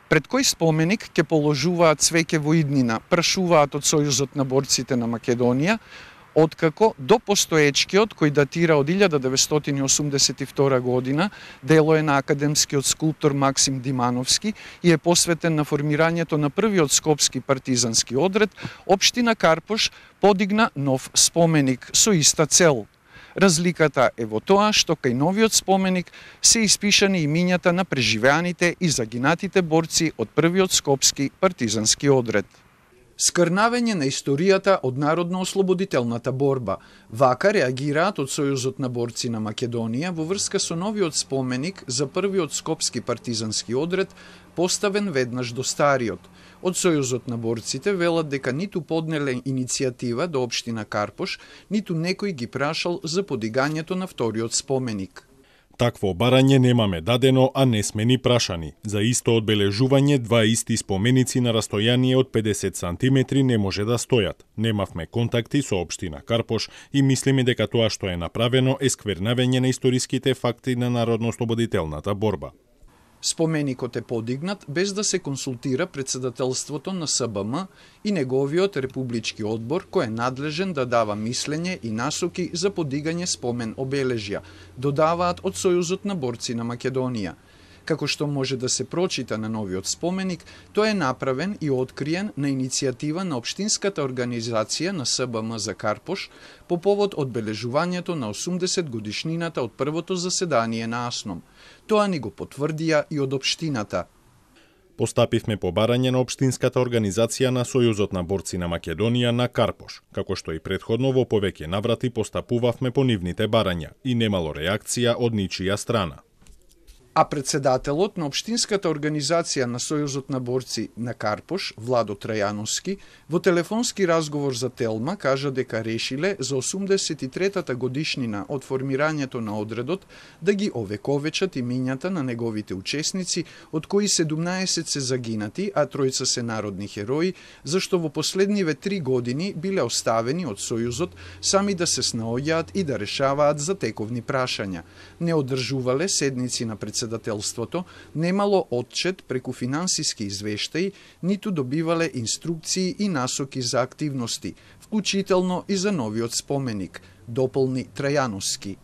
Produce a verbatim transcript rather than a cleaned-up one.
Пред кој споменик ќе положуваат цвеќе во иднина, прашуваат од Сојузот на борците на Македонија, откако до постоечкиот, кој датира од илјада деветстотини осумдесет и втора година, дело е на академскиот скулптор Максим Димановски и е посветен на формирањето на првиот скопски партизански одред, општина Карпош подигна нов споменик со иста цел. Разликата е во тоа што кај новиот споменик се испишани имињата на преживеаните и загинатите борци од првиот скопски партизански одред. Скрнавење на историјата од народно-ослободителната борба. Вака реагираат од Сојузот на борци на Македонија во врска со новиот споменик за првиот скопски партизански одред, поставен веднаш до стариот. Од Сојузот на борците велат дека ниту поднеле иницијатива до општина Карпош, ниту некој ги прашал за подигањето на вториот споменик. Такво барање немаме дадено, а не сме ни прашани. За исто одбележување два исти споменици на растојание од педесет сантиметри не може да стојат. Немавме контакти со општина Карпош и мислиме дека тоа што е направено е сквернавење на историските факти на народно-ослободителната борба. Споменикот е подигнат без да се консултира председателството на С Б М и неговиот републички одбор, кој е надлежен да дава мислење и насоки за подигање спомен обележја, додаваат од Сојузот на борци на Македонија. Како што може да се прочита на новиот споменик, тој е направен и откриен на иницијатива на општинската организација на С Б М за Карпош по повод одбележувањето на осумдесет годишнината од првото заседание на АСНОМ. Тоа ни го потврдија и од општината. Постапивме по барање на општинската организација на Сојузот на борци на Македонија на Карпош, како што и претходно во повеќе наврати постапувавме по нивните барања и немало реакција од ничија страна. А председателот на општинската организација на Сојузот на борци на Карпош, Владо Трајановски, во телефонски разговор за Телма кажа дека решиле за осумдесет и третата годишнина од формирањето на одредот да ги овековечат имињата на неговите учесници, од кои седумнаесет се загинати, а тројца се народни херои, зашто во последниве три години биле оставени од Сојузот сами да се снаоѓаат и да решаваат за тековни прашања. Не одржувале седници на председателот председателството, немало отчет преку финансиски извештаи, ниту добивале инструкции и насоки за активности, вклучително и за новиот споменик, дополни Трајановски.